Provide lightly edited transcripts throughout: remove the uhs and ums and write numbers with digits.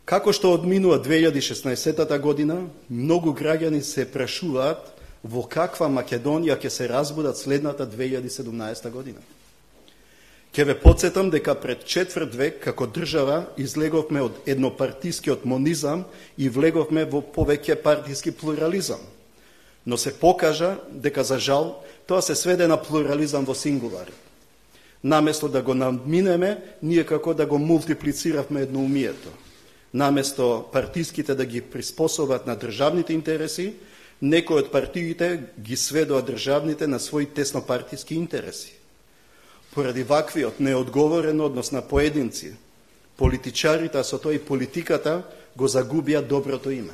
Како што одминува 2016 година, многу граѓани се прашуваат во каква Македонија ќе се разбудат следната 2017 година. Ќе ве подсетам дека пред четврт век како држава излеговме од еднопартискиот монизам и влеговме во повеќе партиски плурализам. Но се покажа дека за жал тоа се сведе на плурализам во сингулар. Наместо да го надминеме, ние како да го мултиплициравме едноумието. Наместо партиските да ги приспособат на државните интереси, некои од партиите ги сведоа државните на своји теснопартиски интереси. Поради ваквиот неодговорен однос на поединци, политичарите, а со тоа и политиката, го загубија доброто име.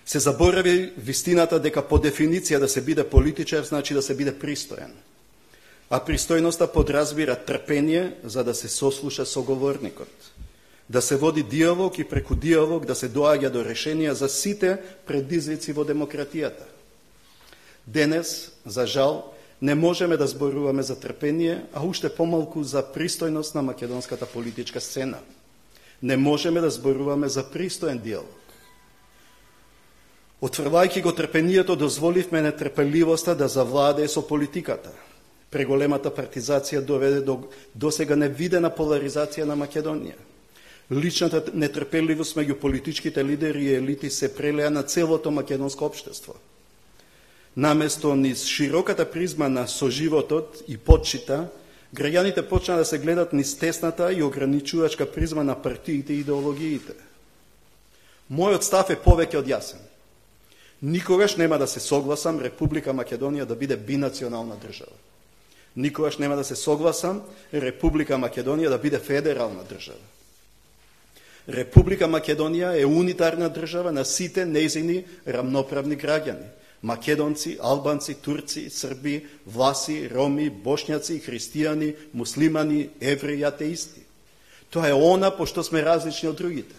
Се заборави вистината дека по дефиниција да се биде политичар значи да се биде пристоен. А пристојноста подразбира трпение за да се сослуша соговорникот. Да се води диалог и преку диалог да се доаѓа до решенија за сите предизвици во демократијата. Денес, за жал, не можеме да зборуваме за трпение, а уште помалку за пристојност на македонската политичка сцена. Не можеме да зборуваме за пристоен диалог. Отврвајќи го трпението, дозволивме нетрпеливоста да завладее со политиката. Преголемата партизација доведе до досега невидена поларизација на Македонија. Личната нетрпеливост меѓу политичките лидери и елити се прелеа на целото македонско општество. Наместо низ широката призма на соживотот и почита, граѓаните почна да се гледат низ тесната и ограничувачка призма на партиите и идеологиите. Мојот став е повеќе од јасен. Никогаш нема да се согласам Република Македонија да биде бинационална држава. Никогаш нема да се согласам Република Македонија да биде федерална држава. Република Македонија е унитарна држава на сите нејзини рамноправни граѓани. Македонци, албанци, турци, срби, власи, роми, бошњаци, христијани, муслимани, евреи, атеисти. Тоа е она по што сме различни од другите.